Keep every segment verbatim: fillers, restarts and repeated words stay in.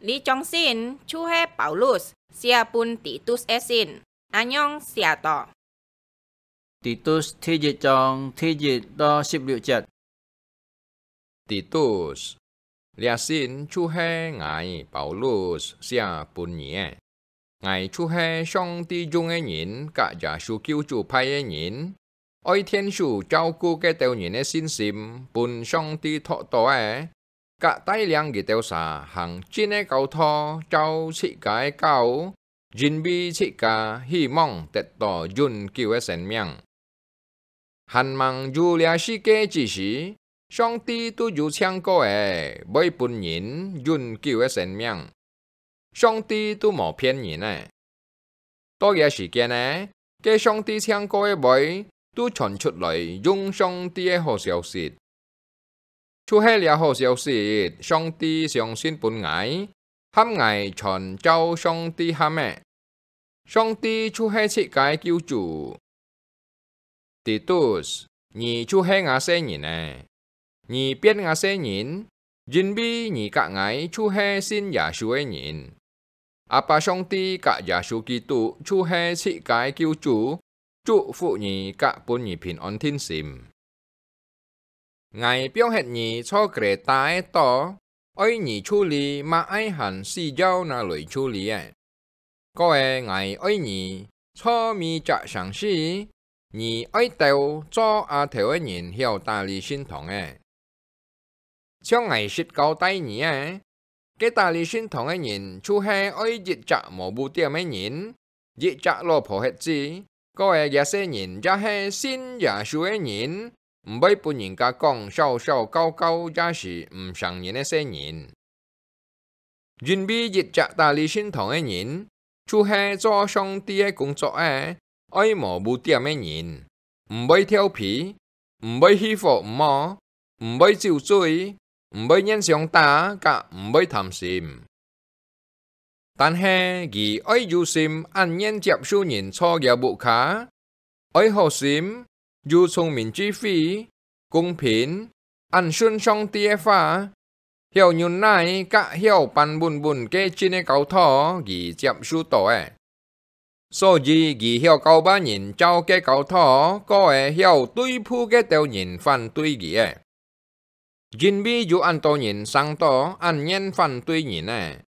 這張信就係Paulus寫分Titus个信，恁樣寫到：Titus第一章第一到十六節。Titus，這信就係𠊎Paulus寫分你个。 𠊎就係上帝用个人，佮耶穌救主派个人，愛天主照顧該兜人个信心，分上帝擇到个，佮帶領佢兜儕行真个教導，照自家个教，因為自家希望得到永久个生命。 還吂有這世界之時，上帝都有請過个，會分人永久个生命。上帝都無騙人个。到這時間呢，該上帝請過个會，都傳出來用上帝个好消息。就係這好消息，上帝相信分𠊎，喊𠊎傳照上帝喊个。上帝就係自家个救主。 Titus，你就係吾細人仔。你變吾細人，因為你佮𠊎就係信耶穌个人。阿爸上帝佮耶穌基督就係自家个救主，祝福你佮分你平安定心。 𠊎放忒你在Kreta个島，愛你處理麼个還需要拿來處理个。過个𠊎愛你在每隻城市，你愛兜做阿頭个人曉打理聖堂个。像𠊎實交代你个， 該打理聖堂个人，就係愛一隻無污點个人，一隻老婆核子，過个這細人也係信耶穌个人，毋會分人家講小小教教也係毋成人个細人。因為一隻打理聖堂个人，就係做上帝个工作个，愛無污點个人，毋會調皮， 毋會去火毋好，毋會酒醉，毋會亂相打，佮毋會貪心。但係佢愛有心恁願接受人坐佢屋下，愛好心，有聰明智慧，公平，恁順上帝个話，曉忍耐，佮曉辦穩穩个真个教導，佢接受到个。 所以佢曉教別人照該教導，過个曉對付該兜人反對佢个。因為有恁多人生到恁願反對人个，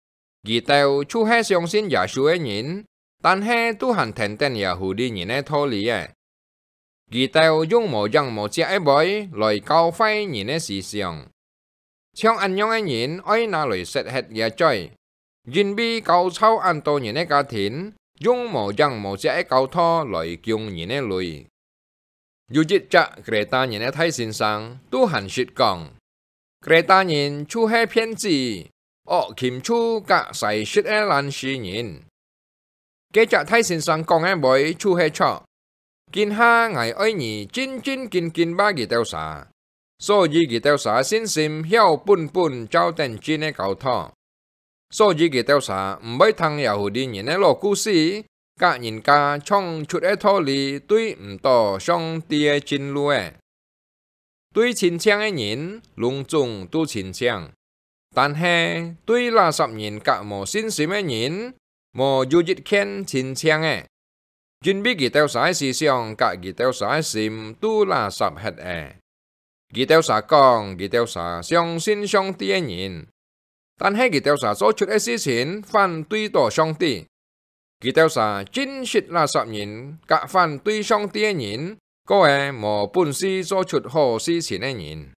佢兜就係相信耶穌个人，但係都還跈等Yahudi人个道理个。佢兜用無影無跡个話來教壞人个思想。 像恁樣个人愛拿來食忒這嘴，因為教臭恁多人个家庭，用無影無跡个教導來供人个鐳。有一隻Kreta人个大先生，都還識講：「Kreta人就係騙子、惡禽獸佮豺實个懶尸人。」 該隻大先生講个話就係著。今下𠊎愛你真真緊緊揹佢兜儕，所以佢兜儕信心曉本本照等真个教導。所以佢兜儕毋會聽Yahudi人个老故事，佮人家創出个道理對毋到上帝个真路个。 對親像个人，攏總都親像，但係對垃圾人佮無信心个人，無有一件親像个，因為佢兜儕个思想佮佢兜儕个心都垃圾忒了。佢兜儕講，佢兜儕相信上帝个人， 但係佢兜儕做出个事情反對到上帝。佢兜儕真實垃圾人，佮反對上帝个人，過个無本事做出好事情个人。